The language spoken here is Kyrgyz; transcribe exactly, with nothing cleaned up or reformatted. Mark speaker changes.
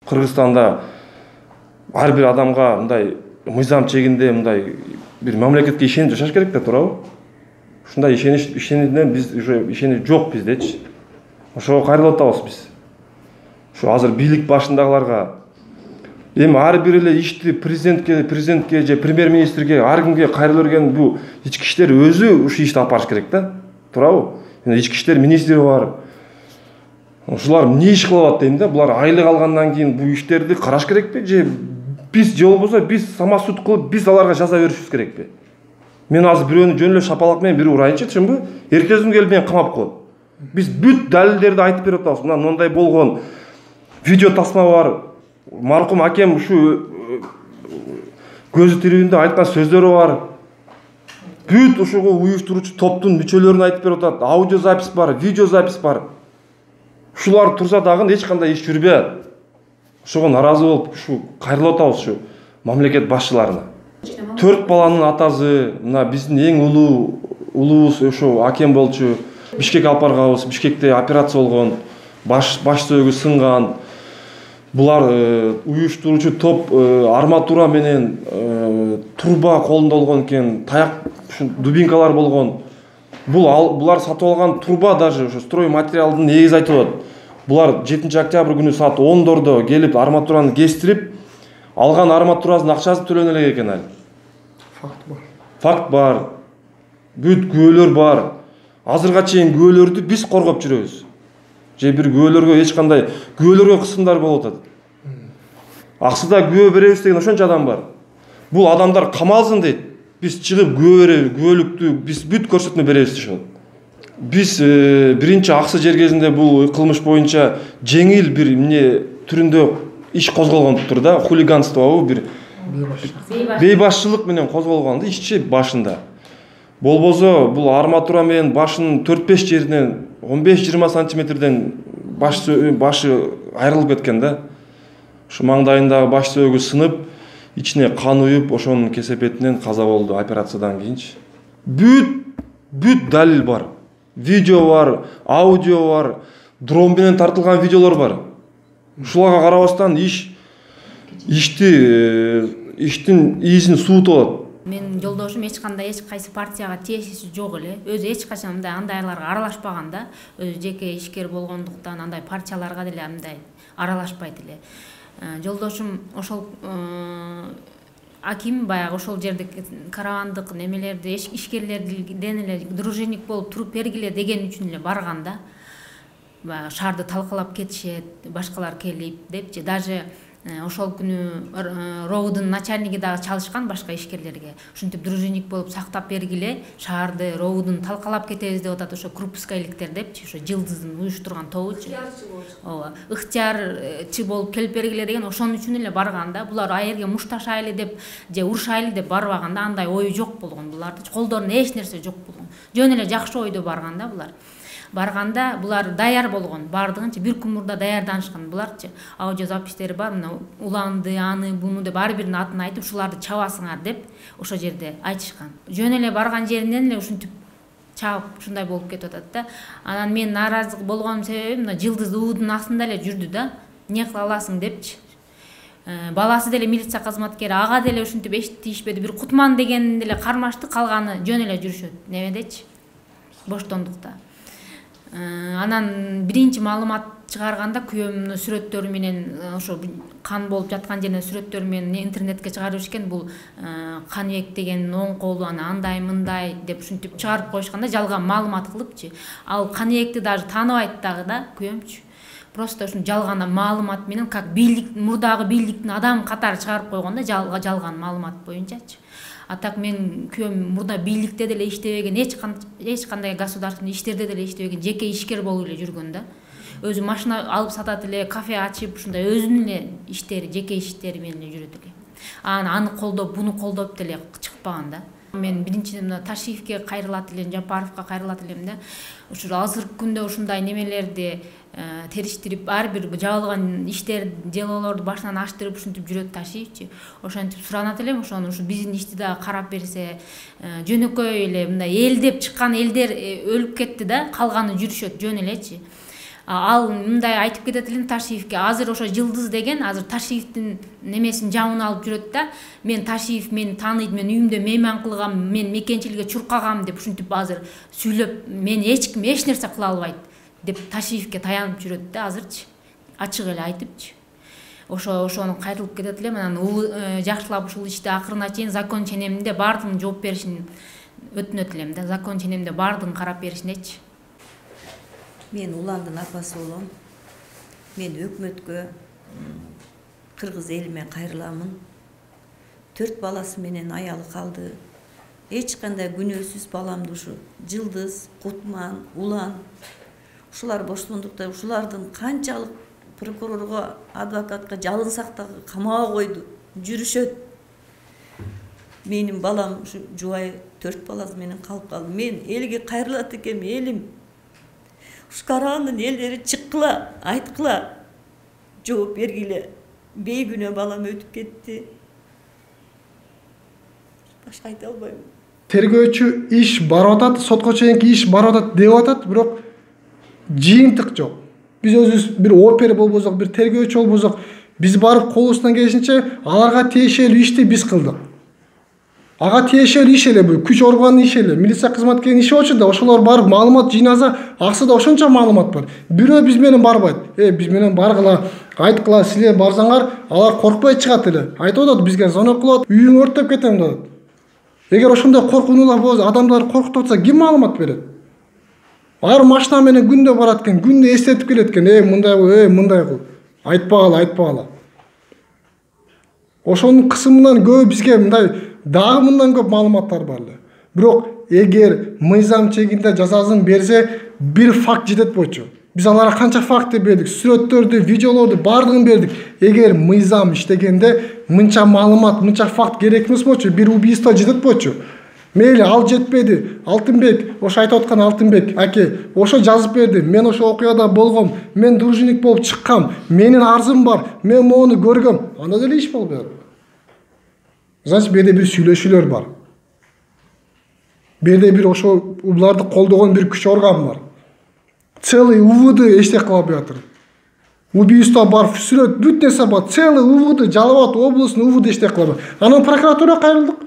Speaker 1: Кыргызстанда ар бир адамга мындай мыйзам чегинде мындай бир мамлекетке ишенип жашаш керек да, туурабы? Ушундай ишенич ишенимден биз уже ишенич жок биздечи. Ошого кайрылып атабыз биз. Ушу азыр бийлик башындагыларга эми ар бир эле ишти президентке, президентке же премьер-министрге, ар кимге кайрыла берген бул ички иштер өзү ушу ишти алып барыш керек да, туурабы? Ички иштер министри бар. Ушулар эмне иш кылып атат дейм да? Булар айлык алгандан кийин бул иштерди караш керекпи же биз же болбосо биз самосуд кылып биз аларга жаза беришибиз керекпи? Мен азыр бирөөнү жөн эле шапалак менен бири урайынчы, түшүнбү? Эртесин келип мени камап коет. Биз бүт далилдерди айтып берип атабыз. Мына мындай болгон, видео тасма бар. Маркум акем ушу көзү тирүүндө айткан сөздөрү бар. Бүт ушуга уюштуруучу топтун мүчөлөрүн айтып берип атат. Аудио запись бар, видео запись бар. Ушулар турса дагы эч кандай иш жүрбөй атат. Ошого наразы болуп, ушу кайрылып атабыз ушу мамлекет башчыларына. Төрт баланын атасы, мына биздин эң улуу улуубуз ошо акем болчу. Бишкек алып барганбыз, Бишкекте операция болгон, баш баш сөөгү сынган. Булар уюштуруучу топ арматура менен турба колунда болгон экен, таяк, дубинкалар болгон. Бул булар сатып алган турба даже ошо строй материалдын негизи айтылат. Булар жетинчи октябрь күнү саат ондордо келип арматураны кестирип, алган арматурасын акчасын төлөнө элек экен ал.
Speaker 2: Факт бар.
Speaker 1: Факт бар. Бүт күбөлөр бар. Азырга чейин күбөлөрдү биз коргоп жүрөбүз. Же бир күбөлөргө эч кандай күбөлөргө кысымдар болуп атат. Аксыда күбө беребиз деген ошончо адам бар. Бул адамдар камалсын дейт. Биз чыгып күбө беребиз, күбөлүктү биз бүт көрсөтмө беребиз дешет. Биз биринчи аксы жер кезинде бул кылмыш боюнча жеңил бир эмне түрүндө иш козголгондур да, хулиганствобу бир бейбашчылык менен козголгон да ишчи башында. Болбосо бул арматура менен башынын төрт беш жеринен он беш жыйырма сантиметрден баш башы айрылып кеткен да. Ушу маңдайындагы баш сөөгү сынып, ичине кан уюп, ошонун кесепетинен каза болду операциядан кийинчи. Бүт бүт далил бар. Видео бар, аудио бар, дрон менен тартылган видеолор бар. Ушуларга карабастан иш ишти иштин изин суутуп алат.
Speaker 3: Мен жолдошум эч кандай эч кайсы партияга тиешеси жок эле. Өзү эч качан мындай андайларга аралашпаган да. Өзү жеке ишкер болгондуктан андай партияларга деле андай аралашпайт эле. Жолдошум ошол аким баягы ошол жерде каравандык немелерди ишкерлерден эле дружинник болуп туруп бергиле деген үчүн эле барган да. Баягы шаарды талкалап кетишет, башкалар келип депчи. Даже ошол күнү роудун начальниги дагы чалышкан башка ишкерлерге. Ушинтип дружинник болуп сактап бергиле, шаарды роудун талкалап кетебиз деп атат ошо крупскайликтер депчи, ошо жылдыздын уюштурган тобучу. Ооба, ыктыярчы болуп келип бергиле деген ошон үчүн эле барган да. Булар аерге мушташайлы деп же урушайлы деп барбаганда андай ою жок болгон булардын. Колдорунда эч нерсе жок болгон. Жөн эле жакшы ойдо барган да булар. Барганда булар даяр болгон, бардыгынча бир күн мурда даярданышкан буларчы. Аудио запистери бар, мына уланды, аны, буну деп ар биринин атын айтып, ушуларды чабасыңар деп ошо жерде айтышкан. Жөн эле барган жеринен эле ушинтип чабып ушундай болуп кетип атат да. Анан мен нааразы болгонум себеби мына жылдыз уудун астында эле жүрдү да. Эмне кыла аласың депчи. Баласы деле милиция кызматкери, ага деле ушинтип эчтишпеди. Бир Кутман деген деле кармашты, калганы жөн эле жүрүшөт. Немедечи? Боштондукта. Анан биринчи маалымат чыгарганда күйөөмдүн сүрөттөрү менен ошо кан болуп жаткан жеринен сүрөттөрү менен интернетке чыгарып ишкен. Бул Каныбек деген оң колу ана андай мындай деп ушинтип чыгарып коюшканда жалган маалымат кылыпчы. Ал Каныбекти даже тааныбайт дагы да күйөөмчү. Просто ушун жалган маалымат менен как бийлик мурдагы бийликтин адамы катары чыгарып койгондо жалган маалымат боюнчачы. А так мен күйөөм мурда бийликте деле иштебеген, эч эч кандай государственный иштерде деле иштебеген, жеке ишкер болуп эле жүргөн да. Өзү машина алып сатат эле, кафе ачып, ушундай өзүнүн эле иштери, жеке иштери менен эле жүрөт эле. Аны аны колдоп, буну колдоп деле чыкпаган да. Мен биринчиден мына Ташиевке кайрылат элем, Жапаровго кайрылат элем да. Ушул азыркы күндө ушундай немелерди териштирип, ар бир жабылган иштер, делолорду башынан аштырып ушинтип жүрөт Ташиевчи. Ошентип суранат элем, ошону ушу биздин ишти дагы карап берсе, жөнөкөй эле мындай эл деп чыккан элдер өлүп кетти да, калганы жүрүшөт жөн элечи. Ал мындай айтып кетет элем Ташиевке, азыр ошо Жылдыз деген азыр Ташиевдин немесин жабын алып жүрөт да, мен Ташиев мени тааныйт, мен үйүмдө мейман кылгам, мен мекенчиликке чуркагам деп ушинтип азыр сүйлөп, мени эч ким эч нерсе кыла албайт деп Ташиевке таянып жүрөт да азырчы, ачык эле айтыпчы. Ошо ошону кайрылып кетет элем, анан жакшылап ушул ишти акырына чейин закон ченеминде баардыгын жооп беришин өтүнөт элем да, закон ченеминде баардыгын карап беришинечи.
Speaker 2: Мен Уландын апасы болом. Мен өкмөткө, кыргыз элиме кайрыламын. Төрт баласы менен аялы калды. Эч кандай күнөөсүз баламды ушу Жылдыз, Кутман, Улан ушулар боштондукта ушулардын канчалык прокурорго, адвокатка жалынсак дагы камаага койду, жүрүшөт. Менин балам ушу жубай төрт баласы менен калып калды. Мен элге кайрылат экем, элим. Ушу Карагандын элдери чыккыла, айткыла, жооп бергиле. Бейгүнөө балам өтүп кетти. Башка айта албайм.
Speaker 4: Тергөөчү иш барып атат, сотко чейинки иш барып атат деп атат, бирок жыйынтык жок. Биз өзүбүз бир опер болбосок, бир тергөөчү болбосок, биз барып колубуздан келишинче аларга тиешелүү ишти биз кылдык. Ага тиешелүү иш эле бул, күч органынын иши эле, милиция кызматкеринин иши болчу да, ошолор барып маалымат жыйнаса, аксыда ошончо маалымат бар. Бирөө биз менен барбайт. Э, биз менен баргыла, айткыла, силер барсаңар, алар коркпой чыгат эле. Айтып атат, бизге звонок кылып, үйүң өрттөп кетем деп. Эгер ошондой коркунуулар болсо, адамдар коркутуп атса, ким маалымат берет? Ар машина менен күндө барат экен, күндө эстетип келет экен, э, мындай кыл, э, мындай кыл. Айтпагыла, айтпагыла. Ошонун кысымынан көбү бизге мындай дагы мындан көп маалыматтар бар эле. Бирок эгер мыйзам чегинде жазасын берсе, бир факт жетет болчу. Биз аларга канча факт бердик, сүрөттөрдү, видеолорду баардыгын бердик. Эгер мыйзам иштегенде мынча маалымат, мынча факт керек эмес болчу, бир убийство жетет болчу. Мейли ал жетпеди, Алтынбек, ошо айтып аткан Алтынбек аке, ошо жазып берди. Мен ошо окуяда болгом, мен дружинник болуп чыккам, менин арзым бар, мен мону көргөм. Анда деле иш болуп берди. Значит, берде бир сүйлөшүүлөр бар. Берде бир ошо уларды колдогон бир күч орган бар. Целый УВД эчтек кыла албай атыр. Убийство бар, сүрөт, бүт нерсе бар. Целый УВД, Жалал Абад облусунун УВД эчтек кыла албай. Анан прокуратурага кайрылдык.